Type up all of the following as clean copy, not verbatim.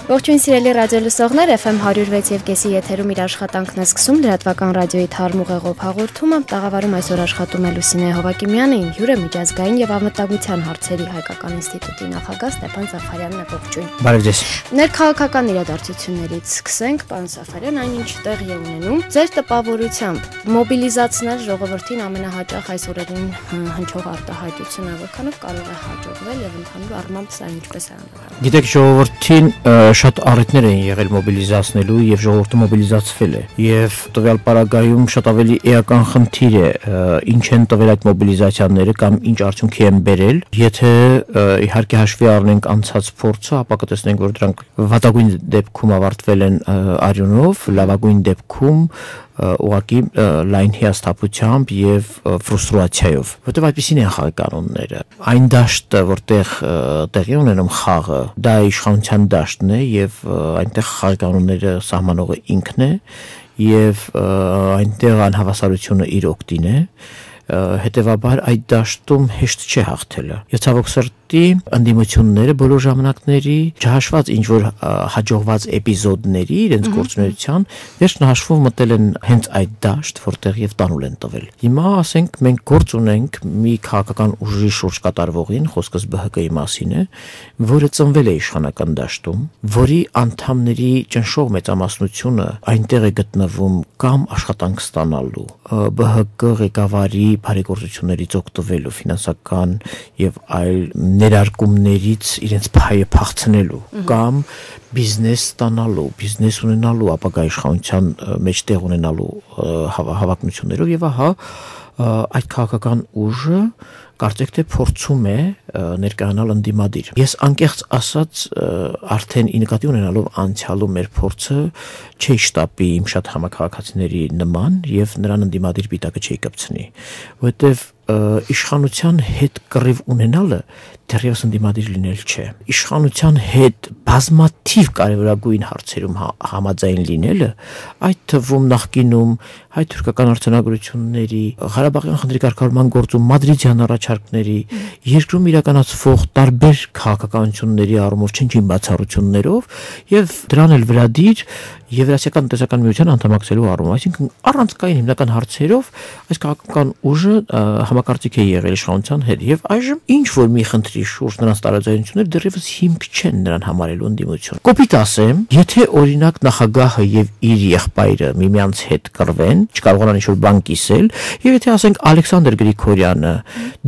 Ողջույն սիրելի ռադիոլսողներ, FM 106 եւ կեսի եթերում իր աշխատանքն է սկսում լրատվական ռադիոյի թարմ ուղեղով հաղորդումը։ Տաղավարում այսօր աշխատում է Լուսինե Հովակիմյանը, հյուրը միջազգային եւ անվտանգության հարցերի հայկական ինստիտուտի նախագահ Ստեփան Զաֆարյանն է։ Ողջույն։ Բարև ձեզ։ Ներքաղաքական իրադարձություններից սկսենք, պարոն Զաֆարյան, այնինչ տեղի է ունենում։ Ձեր տպավորությամբ մոբիլիզացնել ժողովրդին ամենահաճախ այս օրերին հնչող արտահայտությունը որքանով կարող է հաջողվել եւ ընդհանուր առմամբ սա ինչպես է անվանում։ Գիտեք, ժողովրդին շատ առիթներ են եղել մոբիլիզացնելու եւ ժողովուրդը մոբիլիզացվել է եւ տվյալ պարագայում շատ ավելի էական խնդիր է ինչ են տվել այդ մոբիլիզացիաները կամ ինչ արդյունքի են բերել եթե իհարկե հաշվի առնենք անցած փորձը ապա կտեսնենք որ դրանք վատագույն դեպքում ավարտվել են արյունով լավագույն դեպքում ուղղակի լայն հիասթափությամբ եւ ֆրուստրացիայով որտեղ այդպեսին են խաղի կանոնները այն դաշտը որտեղ տեղի ունենում խաղը դա իշխանության դաշտն է եւ այնտեղ խաղի կանոնները սահմանողը ինքն է եւ այնտեղ անհավասարությունը իր օգտին է հետեւաբար այդ դաշտում հեշտ չէ հաղթելը եւ ցավոք սրտի ընդդիմությունները բոլոր ժամանակների չհաշված ինչ որ հաջողված էպիզոդների իրենց գործունեության վերջն հաշվով մտել են հենց այդ դաշտ որտեղ եւ տանուլ են տվել հիմա ասենք մենք գործ ունենք մի քաղաքական ուժի շուրջ կատարվողին խոսքս ԲՀԿ-ի մասին է որը ծնվել է իշխանական դաշտում որի անդամների ճնշող մեծամասնությունը այնտեղ է գտնվում կամ աշխատանք ստանալու ԲՀԿ ղեկավարի բարեգործություններից օգտվելու ֆինանսական եւ այլ ներարկումներից իրենց փայը փախցնելու կամ բիզնես ստանալու, բիզնես ունենալու, ապագա իշխանության մեջ տեղ ունենալու հավակնություններով եւ ահա այդ քաղաքական ուժը կարծեք թե փորձում է ներկայանալ ընդդիմադիր։ Ես անկեղծ ասած արդեն ի նկատի ունենալով անցյալում մեր փորձը չի շտապի իմ շատ համակարգացիների նման եւ նրան ընդդիմադիր պիտակը չի կպցնի, որովհետեւ իշխանության հետ կռիվ ունենալը դեռևս ընդդիմադիր լինել չէ։ Իշխանության հետ բազմաթիվ կարևորագույն հարցերում համաձայն լինելը, այդ թվում նախկինում հայ-թուրքական արձանագրությունների, Ղարաբաղյան խնդրի կարգավորման գործում մադրիդյան առաջարկների, երկրում իրականացվող տարբեր քաղաքականությունների առումով չնչին բացառություններով եւ դրան էլ վրադիր Եվրասիական տնտեսական միության անդամակցելու առումով, այսինքն առանցքային հիմնական հարցերով այս քաղաքական ուժը համակարծիք է եղել իշխանության հետ եւ այժմ ինչ որ մի խնդրի շուրջ նրանց տարաձայնությունները դեռևս հիմք չեն նրան համարելու ընդդիմություն։ Կոպիտ ասեմ, եթե օրինակ նախագահը եւ իր եղբայրը միմյանց հետ կռվեն, չկարողանան ինչ-որ բան կիսել, եւ եթե ասենք Ալեքսանդր Գրիգորյանը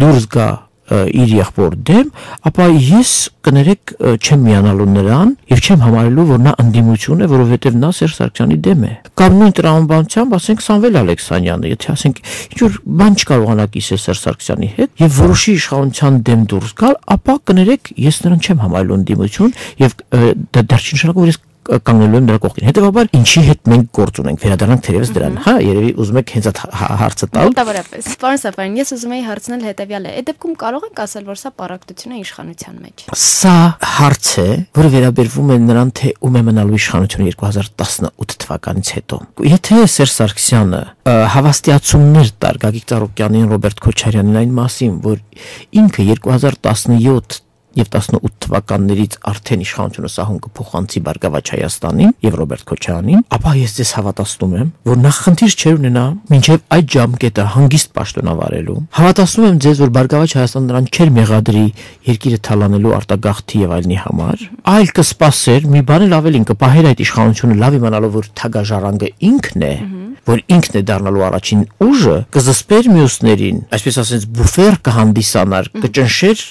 դուրս գա իր եղբոր դեմ, ապա ես կներեք չեմ միանալու նրան եւ չեմ համարելու որ նա ընդդիմություն է, որովհետեւ նա Սերժ Սարգսյանի դեմ է։ Կամ նույն տրամաբանությամբ ասենք Սամվել Ալեքսանյանը, եթե ասենք ինչ որ բան չկարողանա կիսել Սերժ Սարգսյանի հետ եւ որոշի իշխանության դեմ դուրս գալ, ապա կներեք ես նրան չեմ համարելու ընդդիմություն եւ դա դեռ չի նշանակում որ ես կանգնելու եմ նրա կողքին։ Հետևաբար ինչի հետ մենք գործ ունենք, վերադառնանք թերևս դրան։ Հա, երևի ուզում եք հենց այդ հարցը տալ։ Մոտավորապես։ Պարոն Զաֆարյան, ես ուզում եի հարցնել հետևյալը. այդ դեպքում կարող ենք ասել, որ սա պարակտություն է իշխանության մեջ։ Սա հարց է, որը վերաբերվում է նրան, թե ում է մնալու իշխանությունը 2018 թվականից հետո։ Եթե Սերժ Սարգսյանը հավաստիացումներ տար Գագիկ Ծառուկյանին, Ռոբերտ Քոչարյանին այն մասին, որ ինքը 2017 եւ 18 թվականներից արդեն իշխանությունը սահուն կփոխանցի Բարգավաճ Հայաստանին եւ Ռոբերտ Քոչարյանին, ապա ես ձեզ հավատացնում եմ, որ նա խնդիր չէր ունենա մինչեւ այդ ժամկետը հանգիստ պաշտոնավարելու։ Հավատացնում եմ ձեզ, որ Բարգավաճ Հայաստանը նրան չէր մեղադրի երկիրը թալանելու արտագաղթի եւ այլնի համար, այլ կսպասեր մի բան էլ ավելին կպահեր այդ իշխանությունը լավ իմանալով որ թագաժառանգը ինքն է, որ ինքն է դառնալու առաջին ուժը, կզսպեր մյուսներին, այսպես ասած բուֆեր կհանդիսանար, կճնշեր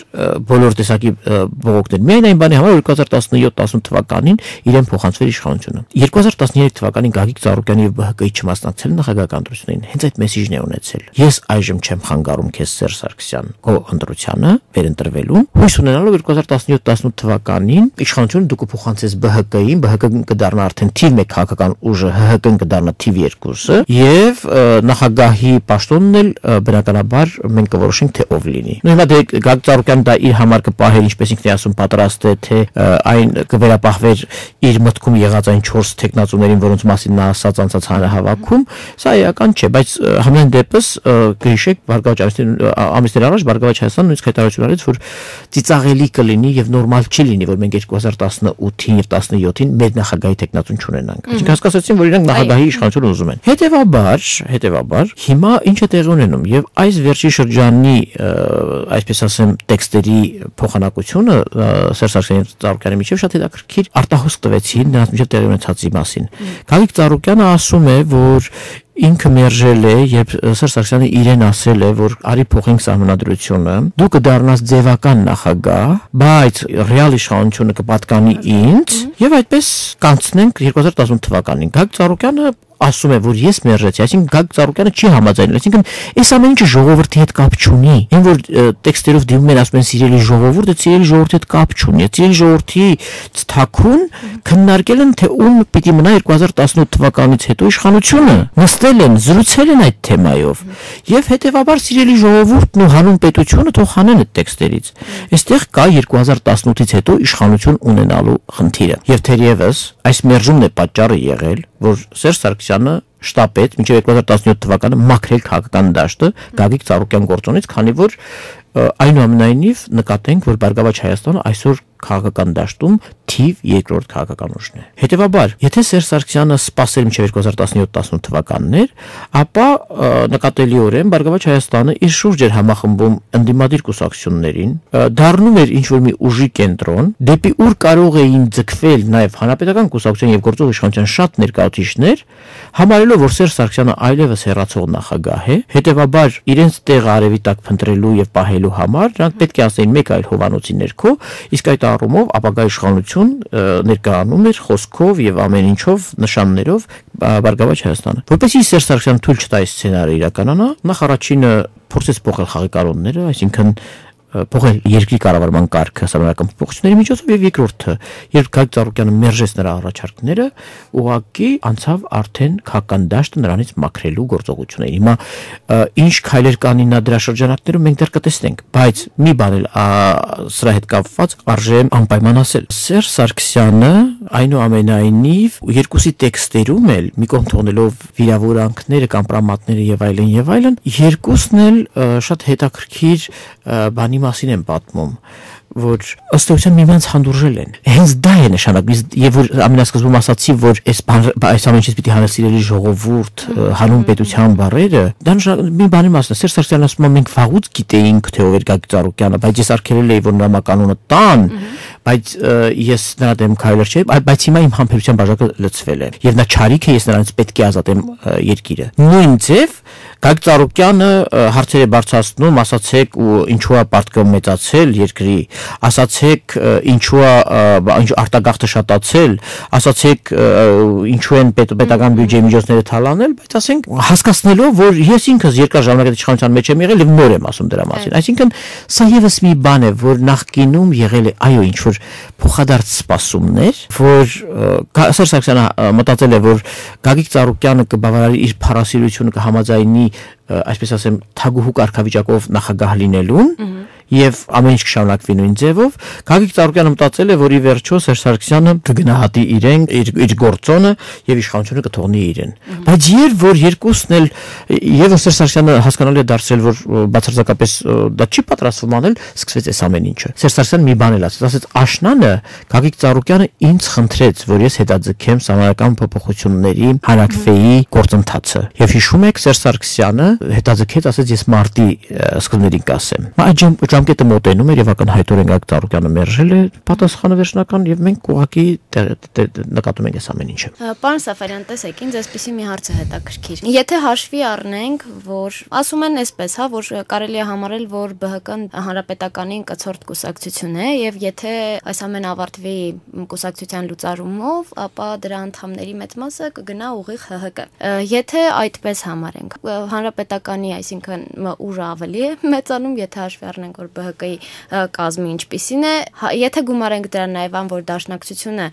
բոլոր տեսակի բողոքներ։ Միայն այն բանի համար 2017-18 թվականին իրեն փոխանցվել իշխանությունը։ 2013 թվականին Գագիկ Ծառուկյանի եւ ԲՀԿ-ի չմասնակցել նախագահական ընտրություններին, հենց այդ մեսիջն է ունեցել։ Ես այժմ չեմ խանգարում քեզ Սերժ Սարգսյան քո ընտրությանը, վերընտրվելու։ Հույս ունենալով 2017-18 թվականին իշխանությունը դուք կփոխանցես ԲՀԿ-ին, ԲՀԿ-ն կդառնա արդեն թիվ 1 քաղաքական ուժը, ՀՀԿ-ն կդառնա թիվ 2 ռեսուրսը եւ նախագահի պաշտոնն էլ բնականաբար մենք կորոշենք թե ով լինի։ Նույն հիմա դե Գագիկ Ծառուկյանը դա իր համար կպահեր, ինչպես ինքն է ասում, պատրաստ է, թե այն կվերապահվեր իր մտքում եղած այն 4 տեխնացուներին, որոնց մասին նա ասած անցած հանրահավաքում, սա էական չէ, բայց համեն դեպս կհիշեք Բարգավաճ ամիսներ առաջ Բարգավաճ Հայաստանը նույնիսկ հայտարարություն արեց, որ ծիծաղելի կլինի եւ նորմալ չի լինի, որ մենք 2018-ին եւ 17-ին մեր նախագահի տեխնացուն չունենանք։ Այսինքն հասկացեցին, որ իրանք նախագահի իշխանություն ուզում են։ Հետևաբար հիմա ինչ է տեղի ունենում եւ այս վերջի շրջանի այսպես ասեմ տեքստերի փոխանակությունը Սերժ Ծառուկյանի միջև շատ հետաքրքիր արտահոսք տվեցին նրանց միջև տեղի ունեցածի մասին։ Գագիկ Ծառուկյանը ասում է, որ ինքը մերժել է, երբ Սերժ Սարգսյանը իրեն ասել է, որ արի փոխենք սահմանադրությունը, դու կդառնաս ձևական նախագահ, բայց ռեալ իշխանությունը կպատկանի ինձ, եւ այդպես կանցնենք 2018 թվականին։ Գագիկ Ծառուկյանը ասում է, որ ես մերժեցի, այսինքն Գագիկ Ծառուկյանը չի համաձայնել, այսինքն այս ամեն ինչը ժողովրդի հետ կապ չունի։ Այն որ տեքստերով դիմում են ասում են սիրելի ժողովուրդ, դա սիրելի ժողովրդի հետ կապ չունի։ Սիրելի ժողովրդի ցթակուն քննարկել են, թե ում պիտի մնա 2018 թվականից հետո իշխանությունը։ Նստել են, զրուցել են այդ թեմայով։ Եվ հետեւաբար սիրելի ժողովուրդն ու հանուն պետությունը թող հանեն այդ տեքստերից։ Այստեղ կա 2018-ից հետո իշխանություն ունենալու խնդիրը։ Եվ թերևս այս մերժումն է պատճառը եղել, որ Սերժ Սարգսյանը շտապեց մինչև 2017 թվականը մաքրել քաղաքական դաշտը Գագիկ Ծառուկյան գործոնից, քանի որ այնուամենայնիվ նկատենք, որ Բարգավաճ Հայաստանը այսօր քաղաքական դաշտում թիվ երկրորդ քաղաքական ուժն է։ Հետևաբար, եթե Սերժ Սարգսյանը սպասեր մինչև 2017-18 թվականներ, ապա նկատելիորեն Բարգավաճ Հայաստանը իր շուրջ էր համախմբում ընդդիմադիր կուսակցություններին, դառնում էր ինչ-որ մի ուժի կենտրոն, դեպի ուր կարող էին ձգվել նաև հանրապետական կուսակցության եւ գործող իշխանության շատ ներկայացուցիչներ, համարելով, որ Սերժ Սարգսյանը այլևս հեռացող նախագահ է, հետևաբար իրենց տեղը արևի տակ փնտրելու եւ պահելու համար նրանք պետք է ասեին մեկ այլ հովանոցի ներքո, իսկ այդ առումով ապագա իշխանություն ներկայանում էր խոսքով եւ ամեն ինչով նշաններով Բարգավաճ Հայաստանը։ Որպեսզի Սերժ Սարգսյանը թույլ չտա այս սցենարը իրականանա, նախ առաջինը փորձեց փոխել խաղի կանոնները, այսինքն փոխել երկրի կառավարման կարգը համանական փոփոխությունների միջոցով եւ երկրորդը, երբ Գագիկ Ծառուկյանը մերժեց նրա առաջարկները, ուղղակի անցավ արդեն քաղաքական դաշտը նրանից մաքրելու գործողություններին։ Հիմա ինչ քայլեր կանին նա դրա շրջանակներում մենք դեռ կտեսնենք, բայց մի բան էլ սրա հետ կապված արժե անպայման ասել։ Սերժ Սարգսյանը այնուամենայնիվ երկուսի տեքստերում էլ մի կողմ թողնելով վիրավորանքները, կամպրամատները եւ այլն, երկուսն էլ շատ հետաքրքիր բանի մասին են պատմում, որ ըստ էության միմյանց հանդուրժել են։ Հենց դա է նշանակում, եւ որ ամենասկզբում ասացի, որ այս ամեն ինչից պիտի հանել սիրելի ժողովուրդ, հանուն պետության բառերը, դա մի բանի մասն է։ Սերժ Սարգսյանն ասում է, մենք վաղուց գիտեինք, թե ով էր Գագիկ Ծառուկյանը, բայց ես արգելել էի, որ նրա կանոնը տան, բայց ես նրա դեմ քայլեր չէի, բայց հիմա իմ համբերության բաժակը լցվել է, եւ նա չարիք է, ես նրանից պետք է ազատեմ երկիրը։ Նույն ձև Գագիկ Ծառուկյանը հարցեր է բարձրացնում, ասացեք ու ինչու է պարտքը մեծացել երկրի, ասացեք ինչու է արտագաղթը շատացել, ասացեք ինչու են պետական բյուջեի միջոցները թալանել, բայց ասենք հասկացնելով, որ ես ինքս երկար ժամանակ իշխանության մեջ եմ եղել եւ նոր եմ ասում դրա մասին։ Այսինքն սա եւս մի բան է, որ նախկինում եղել է, այո, ինչ որ փոխադարձ սպասումներ, որ Սերժ Սարգսյանը մտածել է, որ Գագիկ Ծառուկյանը կբավարարի իր փառասիրությունը, կհամաձայնի այսպես ասեմ թագուհու կարգավիճակով նախագահ լինելուն եւ ամեն ինչ կշարունակվի նույն ձևով։ Գագիկ Ծառուկյանը մտածել է, որ ի վերջո Սերժ Սարգսյանը կգնահատի իրեն, իր գործոնը եւ իշխանությունը կթողնի իրեն։ Բայց երբ որ երկուսն էլ եւ Սերժ Սարգսյանը հասկանալի է դարձրել, որ բացարձակապես դա չի պատրաստվում անել, սկսվեց այս ամեն ինչը։ Սերժ Սարգսյանը մի բան էլ ասաց, աշնանը Գագիկ Ծառուկյանը ինձ խնդրեց, որ ես հետաձգեմ համանական փոփոխությունների հանրակրվեի գործընթացը։ Եվ հիշում եք, Սերժ Սարգսյանը հետաձգեց, ասեց ես մարտի սկզբներին կասեմ։ Այդ ժամկետը մոտենում էր եւ ակնհայտորեն Գագիկ Ծառուկյանը մերժել է պատասխանը վերջնական եւ մենք ուղղակի նկատում ենք այս ամեն ինչը։ Պարոն Սաֆարյան, տեսեք, ինձ այսպեսի մի հարց է հետաքրքիր։ Եթե հաշվի առնենք, որ ասում են այսպես, հա, որ կարելի է համարել, որ ԲՀԿ-ն հանրապետականին կցորդ կուսակցություն է եւ եթե այս ամեն ավարտվի կուսակցության լուծարումով, ապա դրա անդամների մեծ մասը կգնա ուղիղ ՀՀԿ։ Եթե այդպես համարենք, հանրապետականի, այսինքն ուժը ավելի է մեծանում, եթե հաշվի առնենք, որ ԲՀԿ-ի կազմի ինչպիսին է, եթե գումարենք դրան նաև ան, որ Դաշնակցությունը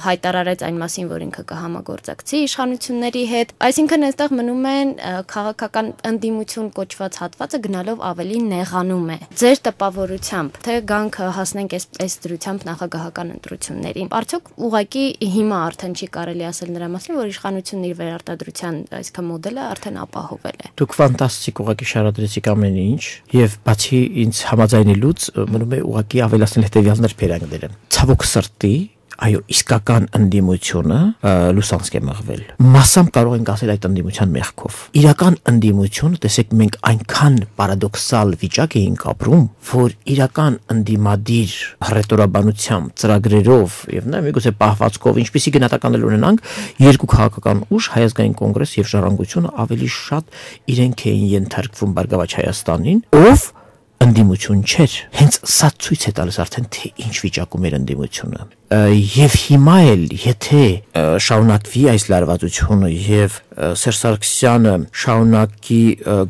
հայտարարեց այն մասին, որ ինքը կհամագործակցի իշխանությունների հետ, այսինքն այստեղ մնում են քաղաքական ընդդիմություն կոչված հատվածը գնալով ավելի նեղանում է։ Ձեր տպավորությամբ, թե գանք հասնենք այս դրությամբ նախագահական ընտրություններին, արդյոք ուղղակի հիմա արդեն չի կարելի ասել նրա մասին, որ իշխանությունն իր վերարտադրության այսքան մոդելը արդեն ապահովել է։ Դուք ֆանտաստիկ ուղղակի շարադրեցիք ամեն ինչ, եւ բացի ինձ համաձայնելուց մնում է ուղղակի ավելացնել հետեւյալ ներբերակները։ Ցավոք սրտի, այո, իսկական ընդդիմությունը լուսանցք է մղվել։ Մասամբ կարող ենք ասել այդ ընդդիմության մեղքով։ Իրական ընդդիմությունը, տեսեք, մենք այնքան պարադոքսալ վիճակ էինք ապրում, որ իրական ընդդիմադիր հռետորաբանությամբ, ծրագրերով եւ նաեւ միգուցե պահվածքով, ինչպիսի գնահատականներ ունենանք, երկու քաղաքական ուժ, Հայ ազգային կոնգրես եւ Ժառանգությունը ավելի շատ իրենք էին ենթարկվում Բարգավաճ Հայաստանին, ով ընդդիմություն չէր։ Հենց սա ցույց է տալիս արդեն թե ինչ վիճակում էր ընդդիմությունը։ Եվ հիմա էլ եթե շարունակվի այս լարվածությունը եւ Սերժ Սարգսյանը շարունակի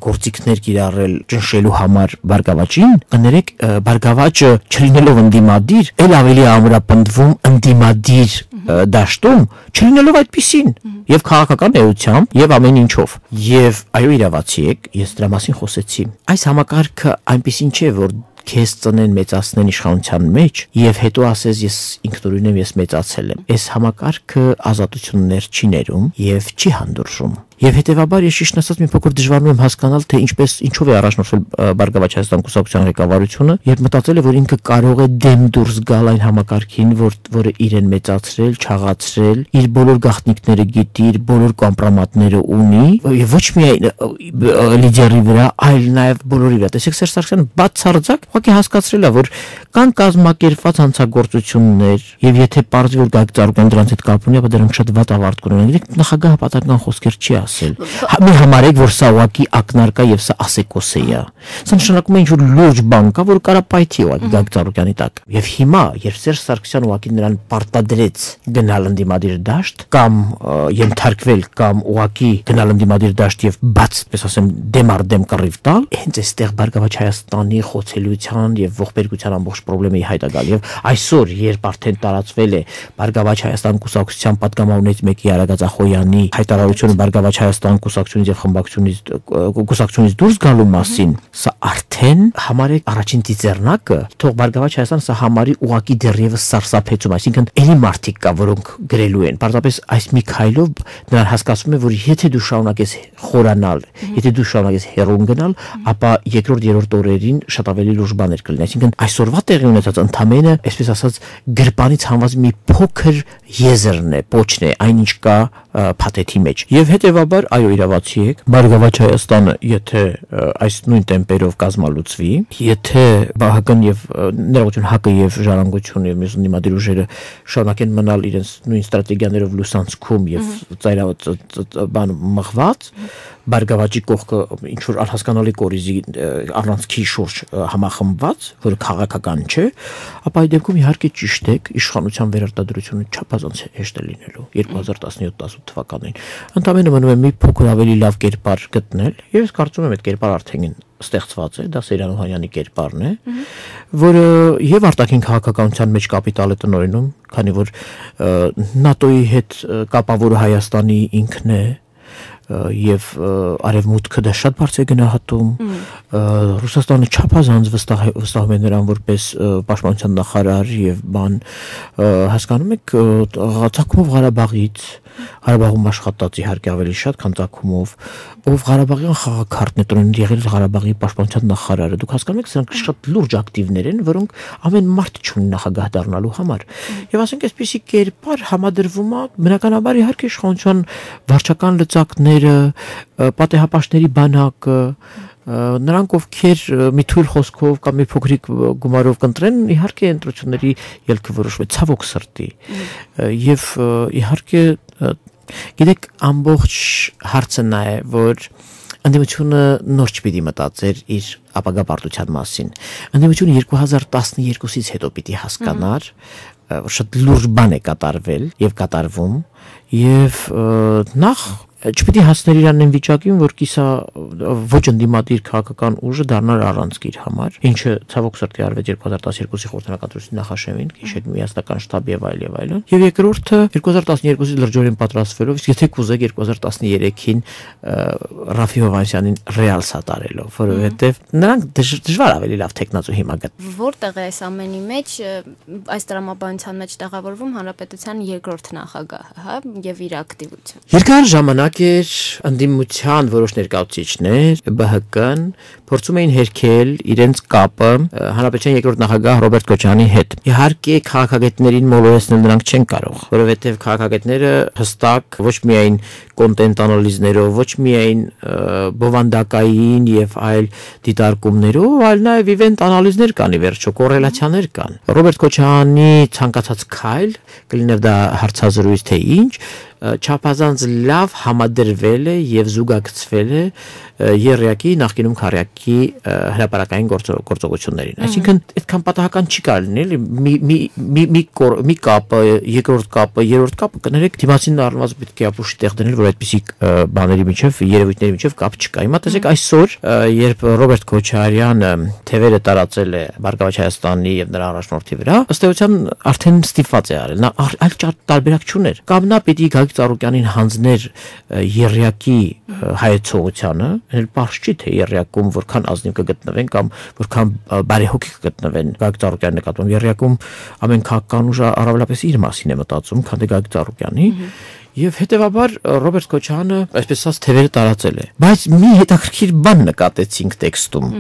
գործիքներ կիրառել ճնշելու համար Բարգավաճին, կներեք, Բարգավաճը չլինելով ընդդիմադիր, ել ավելի ամրապնդվում ընդդիմադիր դաշտում, չլինելով այդպիսին եւ քաղաքական էությամբ եւ ամեն ինչով։ Եվ այո, իրավացի եք, ես դրա մասին խոսեցի։ Այս համակարգը այնպեսին չէ, որ քեզ ծնեն մեծացնեն իշխանության մեջ եւ հետո ասես ես ինքնուրույն եմ, ես մեծացել եմ։ Այս համակարգը ազատություններ չի ներում եւ չի հանդուրժում։ Եվ հետեւաբար ես ճիշտ ասած մի փոքր դժվարում եմ հասկանալ, թե ինչով է առաջնորդվել Բարգավաճ Հայաստան կուսակցության ղեկավարությունը, եւ մտածել է, որ ինքը կարող է դեմ դուրս գալ այն համակարգին, որը իրեն մեծացրել, չաղացրել, իր բոլոր գաղտնիքները գիտի, իր բոլոր կոմպրոմատները ունի, եւ ոչ միայն լիդերի վրա, այլ նաեւ բոլորի վրա։ Տեսեք, Սերժ Սարգսյանը բացարձակ ուղղակի հասկացրել է, որ կան կազմակերպված հանցագործություններ, եւ եթե պարզվի, որ Գագիկ Ծառուկյանը դրանց հետ կապ ունի, ապա դրանք շատ վատ ավարտ կունենան։ Նախագահը պատահական խոսքեր չի ասել։ Մի համարեք, որ սա ուղղակի ակնարկա եւ սա ասեկոս է։ Սա նշանակում է ինչ-որ լուրջ բան կա, որ կարա պայթի ուղղակի Գագիկ Ծառուկյանի տակ։ Եւ հիմա, երբ Սերժ Սարգսյանը ուղղակի նրան պարտադրեց գնալ ընդդիմադիր դաշտ կամ ենթարկվել կամ ուղղակի գնալ ընդդիմադիր դաշտ եւ բաց, պես ասեմ, դեմ առ դեմ կռիվ տալ, հենց այստեղ Բարգավաճ Հայաստանի խոցելիության եւ ողբերգության ամբողջ խնդրեմը հայտ է գալ։ Եվ այսօր, երբ արդեն տարածվել է Բարգավաճ Հայաստան կուսակցության պատգամավորներից մեկի Արագած Ախոյանի հայտարարությունը Բարգավաճ Հայաստան կուսակցությունից եւ կուսակցությունից դուրս գալու մասին, սա արդեն համարեք առաջին ծիծեռնակը, թող Բարգավաճ Հայաստանը սա համարի ուղակի դեռևս սարսափեցում, այսինքն էլի մարդիկ կա, որոնք գրելու են։ Պարզապես այս մի քայլով նրան հասկացվում է, որ եթե դու շարունակես խորանալ, եթե դու շարունակես հեռուն գնալ, ապա երկրորդ օրերին շատ ավելի լուրջ բաներ կլինեն։ Այսինքն այսօրվա տեղի ունեցած ընդամենը, այսպես ասած, գրպանից հանված մի փոքր եզրն է, պոչն է, այնինչ կա փաթեթի մեջ։ Եվ հետեւաբար, այո, իրավացի եք, Բարգավաճ Հայաստանը, եթե այս նույն տեմպերով կազմալուծվի, եթե ԲՀԿ-ն եւ ներողություն ՀԱԿ-ը եւ Ժառանգությունը եւ մյուս ընդդիմադիր ուժերը շարունակեն մնալ իրենց նույն ստրատեգիաներով լուսանցքում եւ բան մղված, Բարգավաճի կողքը ինչ որ անհասկանալի կորիզի առանցքի շուրջ համախմբված, որը քաղաքական չէ, ապա այդ դեպքում իհարկե ճիշտ է, իշխանության վերարտադրությունը չափազանց հեշտ է լինելու 2017-18 թվականին։ Ընդամենը մնում է մի փոքր ավելի լավ կերպար գտնել, եւ ես կարծում եմ այդ կերպարը արդեն ստեղծված է, դա Սերյան Օհանյանի կերպարն է, որը եւ արտաքին քաղաքականության մեջ կապիտալ է տնօրինում, քանի որ ՆԱՏՕ-ի հետ կապավորը Հայաստանի ինքն է եւ արևմուտքը դա շատ բարձր է գնահատում, Ռուսաստանը չափազանց վստահում է նրան որպես պաշտպանության նախարար եւ բան, հասկանում եք, Ծագումով Ղարաբաղից, Ղարաբաղում աշխատած իհարկե ավելի շատ, քան Ծագումով, ով Ղարաբաղյան խաղաքարտն է տրոնում, եղել Ղարաբաղի պաշտպանության նախարարը, դուք հասկանում եք, սրանք շատ լուրջ ակտիվներ են, որոնք ամեն մարդ չունի նախագահ դառնալու համար։ Եվ ասենք այսպիսի կերպար համադրվում է բնականաբար իհարկե իշխանության վարչական լծակները, պատեհապաշտների բանակը, նրանք ովքեր մի թույլ խոսքով կամ մի փոքրիկ գումարով կընտրեն, իհարկե ընտրությունների ելքը որոշվում է ցավոք սրտի։ Եվ իհարկե գիտեք, ամբողջ հարցը նա է, որ ընդդիմությունը նոր չպիտի մտածեր իր ապագա պարտության մասին։ Ընդդիմությունը 2012-ից հետո պիտի հասկանար, որ շատ լուրջ բան է կատարվել եւ կատարվում, եւ նախ չպետք է հասներ իրան այն վիճակին, որ կիսա ոչ ընդդիմադիր քաղաքական ուժը դառնար առանցք իր համար, ինչը ցավոք սրտի արվեց 2012-ի խորհրդանախադրության նախաշեմին, քիշել միասնական շտաբ եւ այլն, եւ երկրորդը 2012-ի լրջորեն պատրաստվելով, իսկ եթե կուզեք 2013-ին Ռաֆի Հովհաննիսյանին ռեալ սատարելով, որովհետեւ նրանք դժվար ավելի լավ տեխնացու հիմա գտ։ Որտեղ է այս ամենի մեջ այս տրամաբանության մեջ տեղավորվում հանրապետության երկրորդ նախագահը, հա, եւ իր ակտիվությունը։ Երկար ժամանակ էր ընդդիմության որոշ ներկայացուցիչներ ԲՀԿ-ն փորձում էին հերքել իրենց կապը հանրապետության երկրորդ նախագահ Ռոբերտ Քոչարյանի հետ։ Իհարկե քաղաքագետներին մոլորեցնել նրանք չեն կարող, որովհետև քաղաքագետները հստակ ոչ միայն կոնտենտ անալիզներով, ոչ միայն բովանդակային եւ այլ դիտարկումներով, այլ նաեւ իվենտ անալիզներ կան, ի վերջո կոռելացիաներ կան։ Ռոբերտ Քոչարյանի ցանկացած քայլ, կլիներ դա հարցազրույց թե ինչ, չափազանց լավ համադրվել է եւ զուգակցվել է Երրյակի նախկինում Քարյակի հրապարակային գործողություններին։ Այսինքն այդքան պատահական չի կարելի մի կապը, երկրորդ կապը, երրորդ կապը կներեք դիմացին առնված պետք է ապուշի տեղ դնել, որ այդպիսի բաների միջև, երևույթների միջև կապ չկա։ Հիմա տեսեք այսօր, երբ Ռոբերտ Քոչարյանը թևերը տարածել է Բարգավաճ Հայաստանի եւ նրա առաջնորդի վրա, ըստ էության արդեն ստիպված է արել։ Նա այլ տարբերակ չուներ։ Կամ նա պիտի Գագիկ Ծառուկյանին հանձներ Երրյակի հայեցողությանը, էլ բարձ չի թե Երրյակում որքան ազնիվ կգտնվեն կամ որքան բարեհոգի կգտնվեն Գագիկ Ծառուկյանի նկատմամբ։ Երրյակում ամեն քաղաքական ուժը առավելապես իր մասին է մտածում, քան թե Գագիկ Ծառուկյանի։ Եվ հետևաբար Ռոբերտ Քոչարյանը այսպես ասած թևերը տարածել է։ Բայց մի հետաքրքիր բան նկատեցինք տեքստում։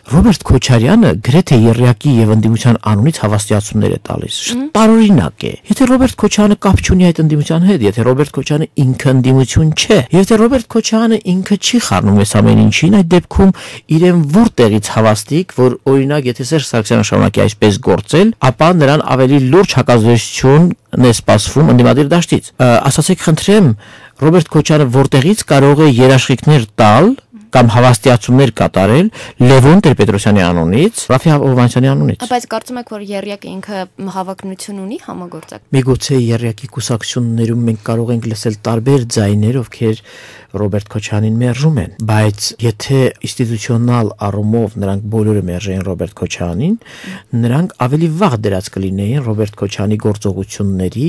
Ռոբերտ Քոչարյանը գրեթե Երրյակի եւ ընդդիմության անունից հավաստիացումներ է տալիս։ Տարօրինակ է։ Եթե Ռոբերտ Քոչարյանը կապ չունի այդ ընդդիմության հետ, եթե Ռոբերտ Քոչարյանը ինքը ընդդիմություն չէ, եթե Ռոբերտ Քոչարյանը ինքը չի խառնում այս ամեն ինչին, այդ դեպքում իրեն որտեղից հավաստիկ, որ օրինակ եթե Սերժ Սարգսյանը շարունակի այսպես գործել, ապա նրան ավելի լուրջ հակազդեցություն է սպասվում ընդդիմադիր դաշտից։ Ասացեք խնդրեմ, Ռոբերտ Քոչարյանը որտեղից կարող է երաշխիքներ տալ կամ հավաստիացումներ կատարել Լևոն Տեր-Պետրոսյանի անունից, Ռաֆի Հովհաննիսյանի անունից։ Բայց կարծում եք, որ Երրյակը ինքը հավակնություն ունի համագործակ։ Միգուցե Երրյակի կուսակցություններում մենք կարող ենք լսել տարբեր ձայներ, ովքեր Ռոբերտ Քոչարյանին մերժում են, բայց եթե ինստիտուցիոնալ առումով նրանք բոլորը մերժեն Ռոբերտ Քոչարյանին, նրանք ավելի վաղ դրած կլինեին Ռոբերտ Քոչարյանի գործողությունների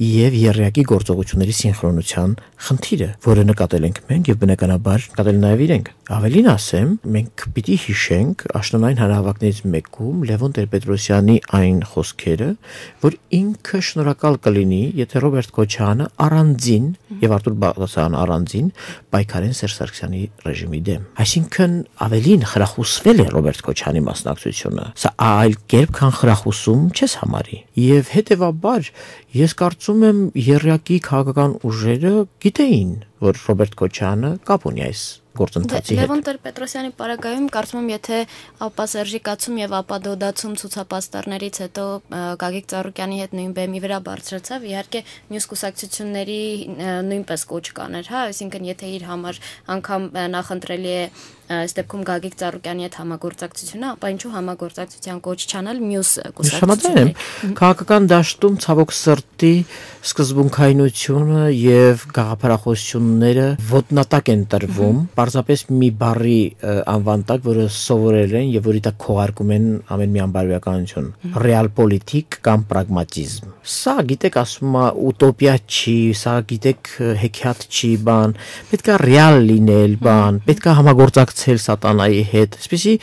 եւ Երրյակի գործողությունների սինխրոնության խնդիրը, որը նկատել ենք մենք եւ բնականաբար նկատել նաեւ իրենք։ Ավելին ասեմ, մենք պիտի հիշենք աշնանային հանրահավաքներից մեկում Լևոն Տեր-Պետրոսյանի այն խոսքերը, որ ինքը շնորհակալ կլինի, եթե Ռոբերտ Քոչարյանը առանձին եւ Արտուր Բաղդասարյանը առանձին պայքարեն Սերժ Սարգսյանի ռեժիմի դեմ։ Այսինքն ավելին խրախուսվել է Ռոբերտ Քոչարյանի մասնակցությունը։ Սա այլ կերպ քան խրախուսում չես համարի։ Եվ հետեւաբար ես կարծում եմ Երրյակի քաղաքական ուժերը գիտեին, որ Ռոբերտ Քոչարյանը կապ ունի այս գործընթացի հետ։ Լևոն Տեր-Պետրոսյանի պարագայում կարծում եմ, եթե ապա Սերժիկացում եւ ապա դոդացում ցուցապաստառներից հետո Գագիկ Ծառուկյանի հետ նույն բեմի վրա բարձրացավ, իհարկե մյուս կուսակցությունների նույնպես կոչ կաներ, հա, այսինքն եթե իր համար անգամ նախընտրելի է այս դեպքում Գագիկ Ծառուկյանի հետ համագործակցությունը, ապա ինչու համագործակցության կոչ չանել մյուս կուսակցությունների։ Քաղաքական դաշտում ցավոք սրտի սկզբունքայնությունը եւ գաղափարախոսությունները ոտնատակ են տրվում, պարզապես մի բառի անվան տակ, որը սովորել են եւ որի տակ քողարկում են ամեն մի անբարոյականություն, ռեալ պոլիտիկ կամ պրագմատիզմ։ Սա գիտեք ասում է ուտոպիա չի, սա գիտեք հեքիաթ չի բան, պետքա ռեալ լինել բան, պետքա համագործակցել սատանայի հետ։ Այսպեսի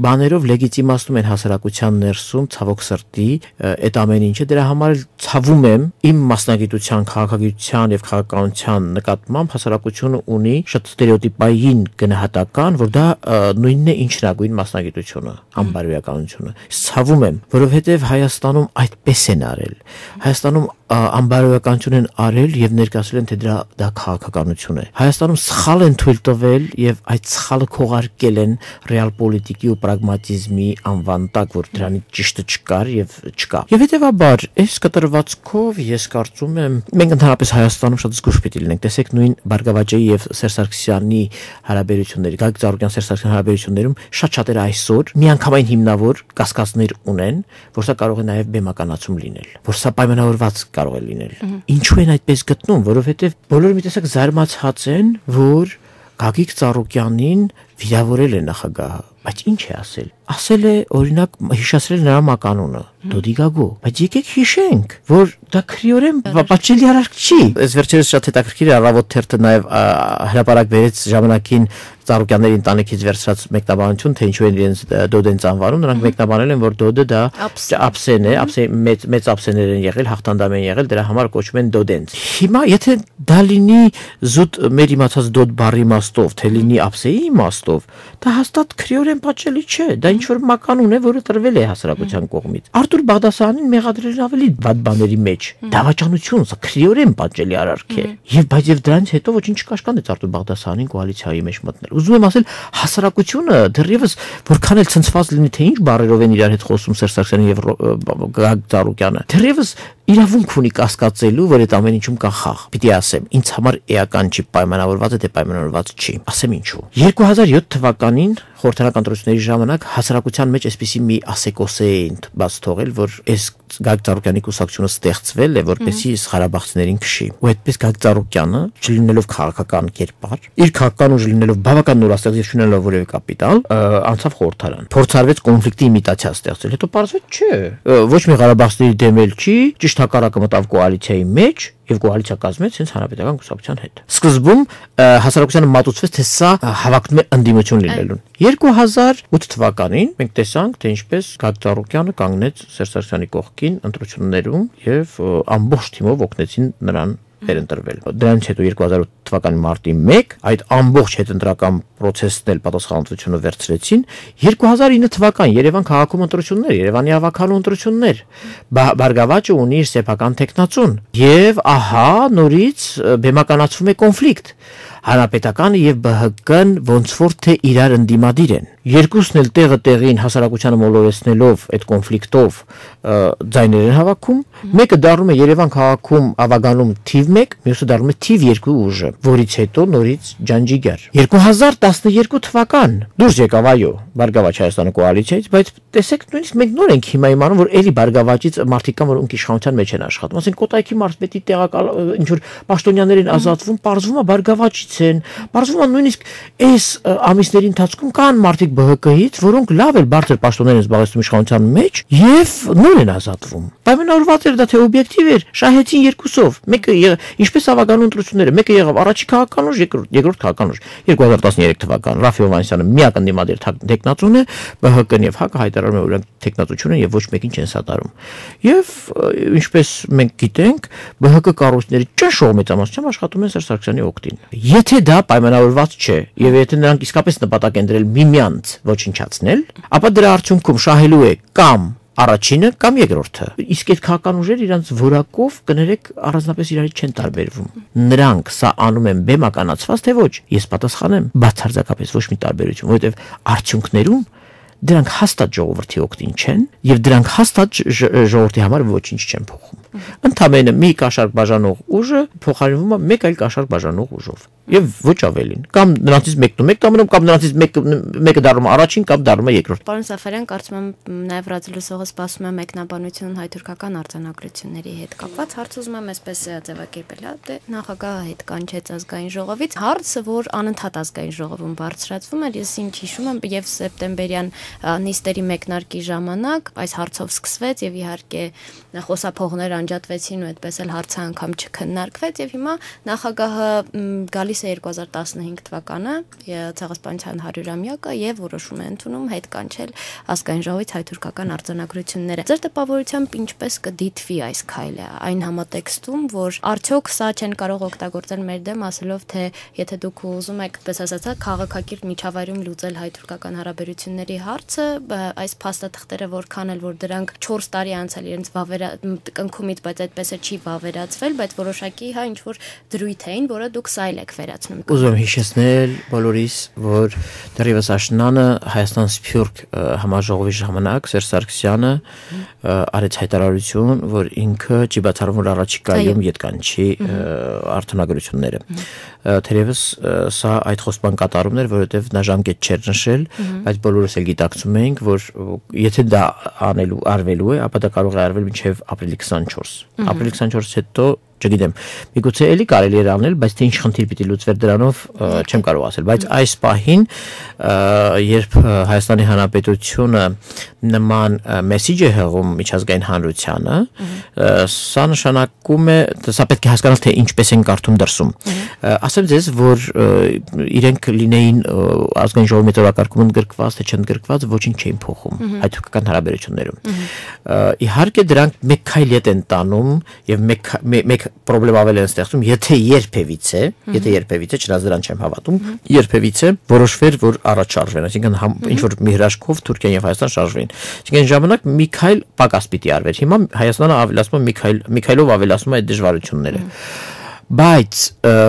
բաներով լեգիտիմացնում են հասարակության ներսում ցավոք սրտի այդ ամեն ինչը, դրա համար ցավում եմ իմ մասնագիտության, քաղաքագիտության եւ քաղաքականության նկատմամբ հասարակությունը ունի շատ ստերեոտիպային գնահատական, որ դա նույնն է ինչ հնագույն մասնագիտությունը, անբարոյականությունը։ Ցավում եմ, որովհետեւ Հայաստանում այդպես են արել։ Հայաստանում անբարոյականություն են արել եւ ներկայացրել են թե դա քաղաքականություն է։ Հայաստանում սխալ են թույլ տվել եւ այդ սխալը թողարկել են ռեալ պոլիտիկի ու պրագմատիզմի անվան տակ, որ դրանից ճիշտը չկար եւ չկա։ Եվ հետեւաբար, այս կտրվածքով ես կարծում եմ, մենք ընդհանրապես Հայաստանում շատ զգուշ պիտի լինենք։ Տեսեք նույն Բարգավաճեի եւ Սերժ Սարգսյանի հարաբերությունների, Գագիկ Ծառուկյան Սերժ Սարգսյանի հարաբերություններում շատ-շատերը այսօր միանգամայն հիմնավոր կասկածներ ունեն, որ սա կարող է նաեւ բեմականացում լինել, որ սա պայմանավորված կարող է լինել։ Ինչու են այդպես գտնում, որովհետեւ բոլորը մի տեսակ զարմացած են, որ Գագիկ Ծառուկյանին վիրավորել է նախագահը, բայց ինչ է ասել։ Ասել է, օրինակ, հիշեցրել նրա մականունը, Դոդիգագո, բայց եկեք հիշենք, որ դա քրիորեն պատժելի արարք չի։ Այս վերջերս շատ հետաքրքիր է, Առավոտ թերթը նաև հրապարակ բերեց ժամանակին Ծառուկյանների ընտանիքից վերցրած մեկնաբանություն, թե ինչու են իրենց Դոդենց անվանում, նրանք մեկնաբանել են, որ Դոդը դա ափսեն է, մեծ ափսեներ են եղել, հաղթանդամ են եղել, դրա համար կոչվում են Դոդենց։ Հիմա եթե դա լինի զուտ մեր իմացած Դոդ բառի իմաստով, թե լինի ափսեի իմաստով, դա հաստատ քրիորեն պատժելի չէ, դա ինչ որ մականուն է, որը տրվել է հասարակության կողմից։ Արտուր Բաղդասարյանին մեղադրել ավելի վատ բաների մեջ։ Դավաճանություն, սա քրիորեն պատժելի արարք է։ Եվ դրանից հետո ոչինչ չկաշկանդեց Արտուր Բաղդասարյանին կոալիցիայի մեջ մտնել։ Ուզում եմ ասել, հասարակությունը դեռևս որքան էլ ցնցված լինի, թե ինչ բառերով են իրար հետ խոսում Սերժ Սարգսյանը եւ Գագիկ Ծառուկյանը, դեռևս իրավունք ունի կասկածելու, որ այդ ամեն ինչում կա խաղ։ Պիտի ասեմ, ինձ համար էական չի, պայմանավորված է, թե պայմանավորված չի։ Ասեմ ինչու։ 2007 թվականին խորհրդարանական ընտրությունների ժամանակ հասարակության մեջ այսպիսի մի ասեկոսե էին բաց թողել, որ այս Գագիկ Ծառուկյանի կուսակցությունը ստեղծվել է, որպեսզի ղարաբաղցիներին քշի։ Ու այդպես Գագիկ Ծառուկյանը, չլինելով քաղաքական կերպար, իր քաղաքական ուժ լինելով բավական նորաստեղծ եւ չունենալով որևէ կապիտալ, անցավ խորհրդարան։ Փորձարվեց կոնֆլիկտի իմիտացիա ստեղծել, հետո պարզվեց չէ, ոչ մի ղարաբաղցիների դեմ էլ չի, ճիշտ հակառակը մտավ կոալիցիայի մեջ եւ կոալիցիա կազմեց հենց հանրապետական կուսակցության հետ։ Սկզբում հասարակությանը մատուցվեց, թե սա հավակնում է ընդդիմություն լինելուն։ 2008 թվականին մենք տեսանք, թե ինչպես Գագիկ Ծառուկյանը կանգնեց Սերժ Սարգսյանի կողքին ընտրություններում եւ ամբողջ թիմով օգնեցին նրան վերընտրվել։ Դրանից հետո 2008 թվականի մարտի 1 այդ ամբողջ հետընտրական process-ն էլ պատասխանատվությունը վերցրեցին։ 2009 թվական Երևան քաղաքում ընտրություններ, Երևանի ավականու ընտրություններ։ Բարգավաճը ունի իր սեփական տեխնացուն եւ ահա նորից բեմականացվում է կոնֆլիկտ։ Հանրապետականը եւ ԲՀԿ-ն ոնց որ թե իրար ընդդիմադիր են։ Երկուսն էլ տեղը տեղին հասարակությանը մոլորեցնելով այդ կոնֆլիկտով ձայներ են հավաքում։ Մեկը դառնում է Երևան քաղաքում ավագանում թիվ 1, մյուսը դառնում է թիվ 2 ուժը, որից հետո նորից ջանջիգար։ 2012 թվական դուրս եկավ այո Բարգավաճ Հայաստանը կոալիցիայից, բայց տեսեք նույնիսկ մենք նոր ենք հիմա իմանում, որ էլի Բարգավաճից մարդիկ կան, որ ոնք իշխանության մեջ են աշխատում։ Ասենք Կոտայքի մարզպետի տեղակալ ինչ որ պաշտոնյաներ են ազատվում, պարզվում է Բարգավաճից են, պարզվում է նույնիսկ այս ամիսների ընթացքում կան մարդիկ ԲՀԿ-ից, որոնք լավ էլ բարձր պաշտոններ են զբաղեցնում իշխանության մեջ եւ նոր են ազատվում։ Պայմանավորված էր դա թե օբյեկտիվ էր, շահեցին երկուսով։ Մեկը ինչպես ավականու ընտրությունները, մեկը եղավ առաջի քաղաքական ուժ, երկրորդ քաղաքական ուժ։ 2013 թվական Ռաֆի Հովհաննիսյանը միակ ընդդիմադիր տեխնացուն է, ԲՀԿ-ն եւ ՀԱԿ-ը հայտարարում են, որ նրանք տեխնացություն են եւ ոչ մեկին չեն սատարում։ Եվ ինչպես մենք գիտենք, ԲՀԿ կառույցների ճնշող մեծամասնությամբ աշխատում են Սերժ Սարգսյանի օգտին։ Եթե դա պայմանավորված չէ եւ եթե նրանք իսկապես նպատակ են դրել միմյանց ոչնչացնել, ապա դրա արդյունքում շահելու է կամ առաջինը կամ երկրորդը։ Իսկ այդ քաղաքական ուժերը իրանց որակով կներեք առանձնապես իրարից չեն տարբերվում։ Նրանք սա անում են բեմականացված թե ոչ, ես պատասխանեմ բացարձակապես ոչ մի տարբերություն, որովհետև արդյունքներում դրանք հաստատ ժողովրդի օգտին չեն եւ դրանք հաստատ ժողովրդի համար ոչինչ չեն փոխում։ Ընդամենը մի կաշառք բաժանող ուժը փոխարինվում է մեկ այլ կաշառք բաժանող ուժով եւ ոչ ավելին։ Կամ նրանցից մեկն ու մեկ դառնում, կամ նրանցից մեկը դառնում առաջին, կամ դառնում է երկրորդ։ Պարոն Սաֆարյան, կարծում եմ նաեւ ռադիոլուսողը սպասում է մեկնաբանություն հայ-թուրքական արձանագրությունների հետ կապված։ Հարց ուզում եմ այսպես ձևակերպել, դե նախագահը հետ կանչեց ազգային ժողովից։ Հարցը, որ անընդհատ ազգային ժողովում բարձրացվում էր, ես ինչ հիշում եմ, եւ սեպտեմբերյան նիստերի մեկնարկի ժամանակ այս հարցով սկսվեց եւ իհարկե խոսափողներ անջատվեցին ու այդպես էլ հարցը անգամ չքննարկվեց եւ հիմա նախագահը գալիս է 2015 թվականը ցեղասպանության 100-ամյակը եւ որոշում է ընդունում հետ կանչել ազգային ժողովից հայ-թուրքական արձանագրությունները։ Ձեր տպավորությամբ ինչպես կդիտվի այս քայլը այն համատեքստում, որ արդյոք սա չեն կարող օգտագործել մեր դեմ, ասելով թե եթե դուք ուզում եք, պես ասածա, քաղաքակիրթ միջավայրում լուծել հայ-թուրքական հարաբերությունների հարցը, այս փաստաթղթերը որքան էլ որ դրանք 4 տարի անցել իրենց կնքում կողմից, բայց այդպես չի վավերացվել, բայց որոշակի ինչ որ դրույթ էին, որը դուք սայլ եք վերացնում։ Ուզում եմ հիշեցնել բոլորիս, որ դեռևս աշնանը Հայաստան Սփյուռք համաժողովի ժամանակ Սերժ Սարգսյանը արեց հայտարարություն, որ ինքը չի բացառում, որ առաջիկայում ետկանչի արտոնագրությունները։ Թերևս սա այդ խոստման կատարումն էր, որովհետև նա ժամկետ չէր նշել, բայց բոլորս էլ գիտակցում էինք, որ եթե դա արվելու է, ապա դա կարող է արվել մինչև ապրիլի 24։ Ապրիլի 24-ից հետո չգիտեմ, միգուցե էլի կարելի էր անել, բայց թե ինչ խնդիր պիտի լուծվեր դրանով չեմ կարող ասել, բայց այս պահին երբ Հայաստանի Հանրապետությունը նման մեսիջ է հղում միջազգային հանրությանը, սա նշանակում է, սա պետք է հասկանալ, թե ինչպես են կարդում դրսում։ Ասեմ ձեզ, որ իրենք լինեին ազգային ժողովի մեծօրակարգում ընդգրկված, թե չընդգրկված, ոչինչ չէին փոխում հայ-թուրքական հարաբերություններում։ Իհարկե դրանք մեկ քայլ ետ են տանում եւ մեկ պրոբլեմ ավել են ստեղծում, եթե երբևիցե, չնայած դրան չեմ հավատում, երբևիցե որոշվեր, որ առաջ շարժվեն, այսինքն ինչ որ մի հրաշքով Թուրքիան եւ Հայաստան շարժվեն։ Այսինքն ժամանակ մի քայլ պակաս պիտի արվեր։ Հիմա Հայաստանը ավելացնում է մի քայլով ավելացնում է այդ դժվարությունները։ Բայց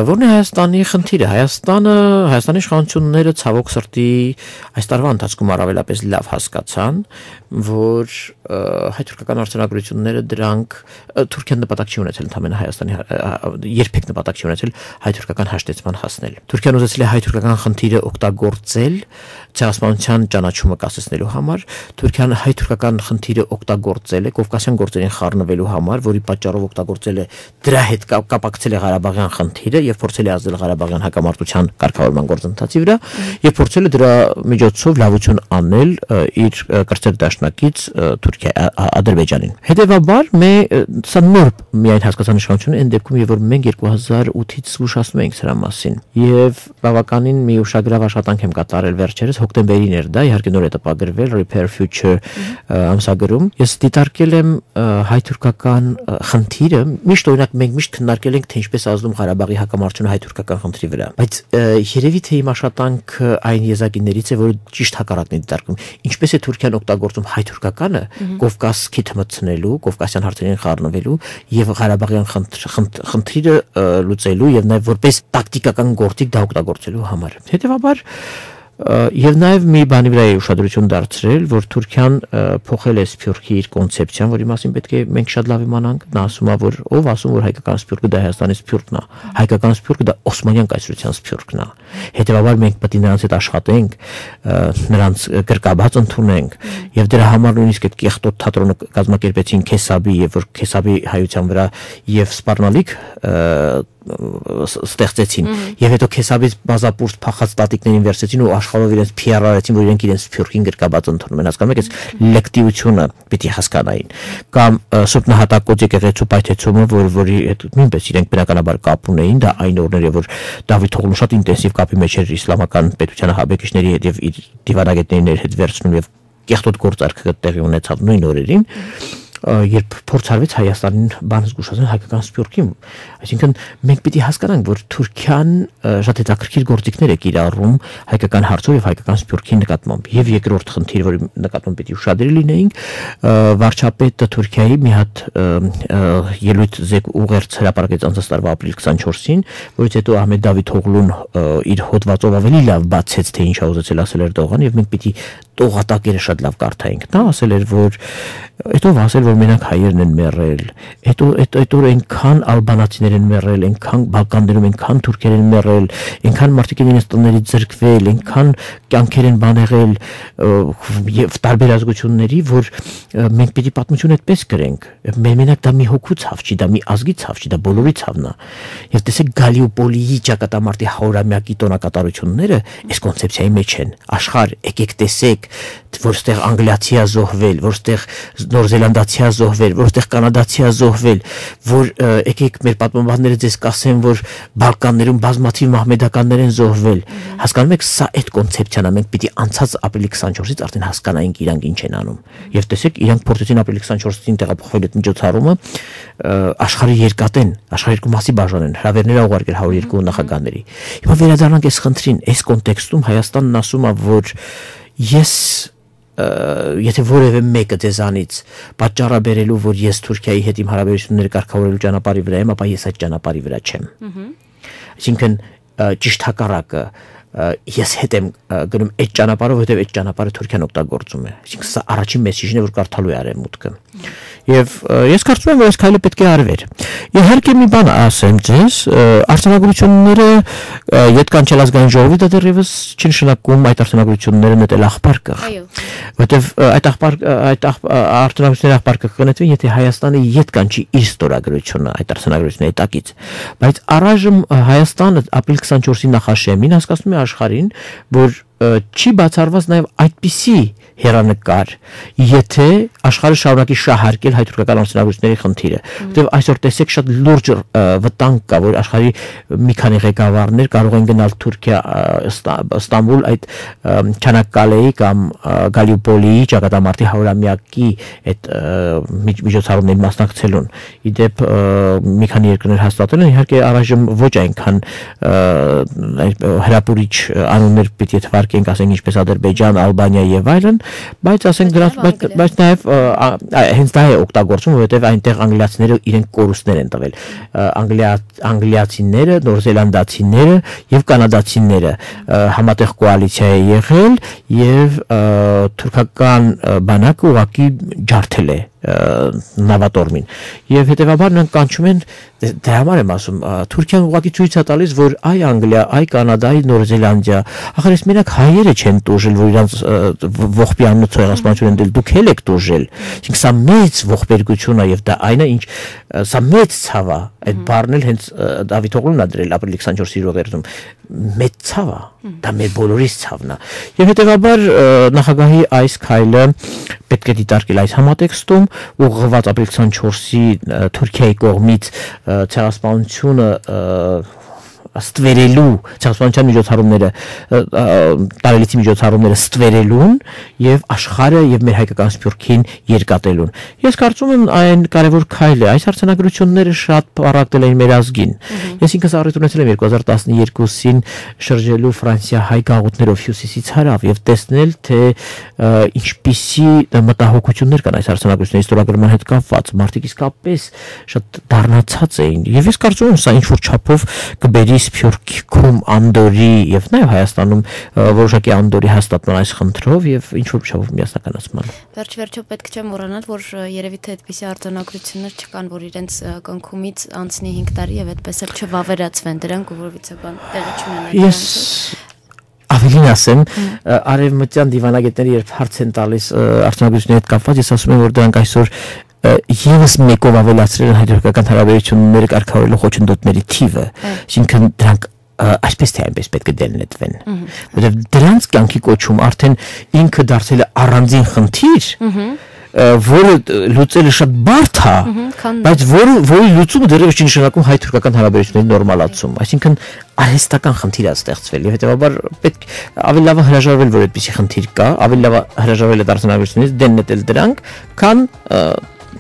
որն է Հայաստանի խնդիրը։ Հայաստանի իշխանությունները ցավոք սրտի այս տարվա ընթացքում առավելապես լավ հասկացան, որ հայ-թուրքական արձանագրությունները դրանք Թուրքիան նպատակ չի ունեցել ընդհանրապես Հայաստանի երբեք նպատակ չի ունեցել հայ-թուրքական հաշտեցման հասնել։ Թուրքիան ուզեցել է հայ-թուրքական խնդիրը օգտագործել ցեղասպանության ճանաչումը կասեցնելու համար, Թուրքիան հայ-թուրքական խնդիրը օգտագործել է Կովկասյան գործերին խառնվելու համար, որի պատճառով օգտագործել է դրա հետ կապակցել է Ղարաբաղյան խնդիրը եւ փորձել է ազդել Ղարաբաղյան հակամարտության կարգավորման գործընթացի վրա եւ փորձել է դրա միջոցով լավություն անել իր կրտսեր դաշնակից Թուրքիա Ադրբեջանին։ Հետևաբար սա նոր միայն հասկացան իշխանությունը այն դեպքում, երբ որ մենք 2008-ից զգուշացնում էինք սրա մասին եւ բավականին մի ուշագրավ աշխատանք եմ կատարել վերջերս հոկտեմբերին էր դա, իհարկե նոր է տպագրվել Repair Future ամսագրում։ Ես դիտարկել եմ հայ-թուրքական խնդիրը, միշտ օրինակ մենք միշտ քննարկել ենք, թե ինչպես ազդում Ղարաբաղի հակամարտությունը հայ-թուրքական խնդրի վրա, բայց երևի թե իմ աշխատանքը այն եզակիներից է, որը ճիշտ հակառակն է դիտարկում։ Ինչպես է Թուրքիան օգտագործում հայ-թուրքականը Կովկասի թմցնելու, Կովկասյան հարցերին խառնվելու եւ Ղարաբաղյան խնդիրը լուծելու եւ նաեւ որպես տակտիկական գործիք դա օգտագործելու համար։ Հետևաբար եւ նաեւ մի բանի վրա է ուշադրություն դարձրել, որ Թուրքիան փոխել է Սփյուռքի իր կոնցեպցիան, որի մասին պետք է մենք շատ լավ իմանանք։ Նա ասում է, որ ով ասում, որ հայկական Սփյուռքը դա Հայաստանի Սփյուռքն է, հայկական Սփյուռքը դա Օսմանյան կայսրության Սփյուռքն է։ Հետևաբար մենք պետք է նրանց հետ աշխատենք, նրանց գրկաբաց ընդունենք եւ դրա համար նույնիսկ այդ կեղտոտ թատրոնը կազմակերպեցին Քեսաբի եւ որ Քեսաբի հայության վրա եւ սպառնալիք ստեղծեցին եւ հետո Քեսաբից բազապուրտ փախած տատիկներին վերցեցին ու աշխարհով իրենց PR-արեցին, որ իրենք իրենց Սփյուռքին գրկաբաց ընդունում են, հասկանում եք, այս լեկտիվությունը պիտի հասկանային։ Կամ Սուրբ Նահատակոց եկեղեցու պայթեցումը, որի հետ նույնպես իրենք բնականաբար կապ ունեին, դա այն օրները, որ Դավիթ Օղլուն շատ ինտենսիվ կապի մեջ էր իսլամական պետության ահաբեկիչների հետ եւ իր դիվանագետների հետ վերցնում եւ կեղտոտ գործարքը տեղի ունեցավ նույն օրերին, երբ փորձարվեց Հայաստանին բան զգուշացնել հայկական Սփյուռքին, այսինքն մենք պիտի հասկանանք, որ Թուրքիան շատ հետաքրքիր գործիքներ է կիրառում հայկական հարցով եւ հայկական Սփյուռքի նկատմամբ։ Եվ երկրորդ խնդիր, որի նկատմամբ պիտի ուշադրի լինեինք, վարչապետը Թուրքիայի մի հատ ելույթ ուղերձ հրապարակեց անցած տարվա ապրիլի 24-ին, որից հետո Ահմեդ Դավիթ Օղլուն իր հոդվածով ավելի լավ բացեց, թե ինչ է ուզեցել ասել Էրդողանը, եւ մենք պիտի տողատակերը շատ լավ կարդայինք։ Նա ասել էր, որ հետո ասել, որ մենակ հայերն են մեռել, հետո այնքան ալբանացիներ են մեռել, այնքան Բալկաններում այնքան թուրքեր են մեռել, այնքան մարդիկ են իրենց տներից զրկվել, այնքան կյանքեր են բանեղել եւ տարբեր ազգությունների, որ մենք պիտի պատմություն այդպես գրենք։ Մենակ դա մի հոգու ցավ չի, դա մի ազգի ցավ չի, դա բոլորի ցավն է։ Եվ տեսեք Գալիոպոլիի ճակատամարտի 100-ամյակի տոնակատարությունները այս կոնցեպցիայի մեջ են։ Աշխարհ, եկեք տեսեք, որ ստեղ անգլիացի է զոհվել, որ ստեղ նորզելանդացի է զոհվել, որ ստեղ կանադացի է զոհվել, որ եկեք մեր պատմաբանները ձեզ կասեն, որ Բալկաններում բազմաթիվ մահմեդականներ են զոհվել։ Հասկանում եք, սա այդ կոնցեպցիան է, մենք պիտի անցած ապրիլի 24-ից արդեն հասկանայինք իրանք ինչ են անում։ Եվ տեսեք, իրանք փորձեցին ապրիլի 24-ին տեղափոխվել այդ միջոցառումը աշխարհի երկատեն, աշխարհի երկու մասի բաժանեն, հրավերներ ուղարկել 102 նախագահների։ Հիմա վերադառնանք այս խնդրին, այս կոնտեքստում Հայաստանն ասում է, որ ես եթե որևէ մեկը դեզանից պատճառաբերելու, որ ես Թուրքիայի հետ իմ հարաբերությունները կարգավորելու ճանապարհի վրա եմ, ապա ես այդ ճանապարհի վրա չեմ։ Այսինքն ճիշտ հակառակը ես հետ եմ գնում այդ ճանապարհով, որովհետև այդ ճանապարհը Թուրքիան օգտագործում է։ Այսինքն սա առաջին մեսիջն է, որ կարդալու է արևմուտքը։ Եվ ես կարծում եմ, որ այս քայլը պետք է արվեր։ Իհարկե մի բան ասեմ ձեզ, արտոնագրությունները յետքան չելազգային ժողովի դա դեռևս չնշանակում այդ արտոնագրությունները նետել աղբարկը։ Որովհետև այդ արտոնագրությունների աղբարկը կգտնվի, եթե Հայաստանը յետքան չի իր ստորագրությունը այդ արտոնագրությունների տակից։ Բայց առայժմ Հայաստանը ապրիլ 24-ի նախաշեմին հասկացնում է աշխարհին, որ չի բացառված նաև այդպիսի հերանեկար, եթե աշխարհը շարունակի շահարկել հայ-թուրքական արտոնագրությունների խնդիրը, որտեղ այսօր տեսեք շատ լուրջ վտանգ կա, որ աշխարհի մի քանի ղեկավարներ կարող են գնալ Թուրքիա, Ստամբուլ այդ Չանաքկալեի կամ Գալիուպոլիի ճակատամարտի 100-ամյակի այդ միջոցառումներին մասնակցելուն։ Իդեպ մի քանի երկրներ հաստատել են, իհարկե առայժմ ոչ այնքան հրապուրիչ անուններ պիտի թվարկենք, ասենք ինչպես Ադրբեջան, Ալբանիա եւ այլն, բայց ասենք դրանց բայց նաեւ հենց դա է օգտագործում, որովհետեւ այնտեղ անգլիացիները իրենք կորուստներ են տվել։ Անգլիացիները, նորզելանդացիները եւ կանադացիները համատեղ կոալիցիա է եղել եւ թուրքական բանակը ուղղակի ջարդել է նավատորմին եւ հետեւաբար նրանք կանչում են դրա համար եմ ասում Թուրքիան ուղղակի ցույց է տալիս որ այ Անգլիա, այ Կանադա, այ Նորզելանդիա ախր ես մենակ հայերը չեն տուժել որ իրանց ողբյանու ցեղասպանություն են դել դուք էլ եք տուժել այսինքն սա մեծ ողբերգություն է եւ դա այն է ինչ սա մեծ ցավ է այդ բառն էլ հենց Դավիթ Օղլունն է դրել ապրիլի 24-ի ռովերտում մեծ ցավ է դա մեր բոլորիս ցավն է եւ հետեւաբար նախագահի այս քայլը պետք է դիտարկել այս համատեքստում ուղղված ապրիլ 24-ի Թուրքիայի կողմից ցեղասպանությունը ստվերելու ցեղասպանության միջոցառումները տարելիցի միջոցառումները ստվերելուն եւ աշխարհը եւ մեր հայկական սփյուռքին երկատելուն ես կարծում եմ այն կարևոր քայլ է այս արձանագրությունները շատ պարակտել են մեր ազգին ես ինքս առիթ ունեցել եմ 2012-ին շրջելու Ֆրանսիա-հայ գաղութներով հյուսիսից հարավ եւ տեսնել թե ինչպիսի մտահոգություններ կան այս արձանագրությունների ստորագրման հետ կապված մարդիկ իսկապես շատ դառնացած էին եւ ես կարծում եմ սա ինչ որ չափով կբերի Սփյուռքում Անդորի եւ նաեւ Հայաստանում որոշակի Անդորի հաստատման այս խնդրով եւ ինչ որ չափով միասնականացման Վերջ-վերջո պետք չէ մոռանալ որ երևի թե այդպիսի արձանագրություններ չկան որ իրենց կնքումից անցնի 5 տարի եւ այդպես էլ չվավերացվեն դրանք ու որովհետեւ բան տեղի չունենան Ես ավելին ասեմ արևմտյան դիվանագետները երբ հարց են տալիս արձանագրությունների հետ կապված ես ասում եմ որ դրանք այսօր Եվս մեկով ավելացրել են հայ-թուրքական հարաբերությունները կարգավորելու խոչընդոտների թիվը, այսինքն դրանք այսպես թե այնպես պետք է դելնետվեն, որովհետև դրանց կյանքի կոչում արդեն ինքը դարձել է առանձին խնդիր, որը լուծելը շատ բարդ է, բայց որի լուծումը դեռևս չի նշանակում հայ-թուրքական հարաբերությունների նորմալացում, այսինքն արհեստական խնդիր է ստեղծվել եւ հետեւաբար պետք ավելի լավ հրաժարվել որ այդպիսի խնդիր կա, ավելի լավ հրաժարվել է դարձնագրությունից դելնետել դրանք, քան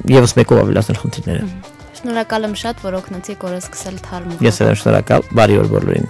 Եվս մեկով ավելացնել խնդիրները։ Շնորհակալ եմ շատ, որ օգնեցիք օրը սկսել թարմուղ։ Ես եմ շնորհակալ, բարի օր բոլորին։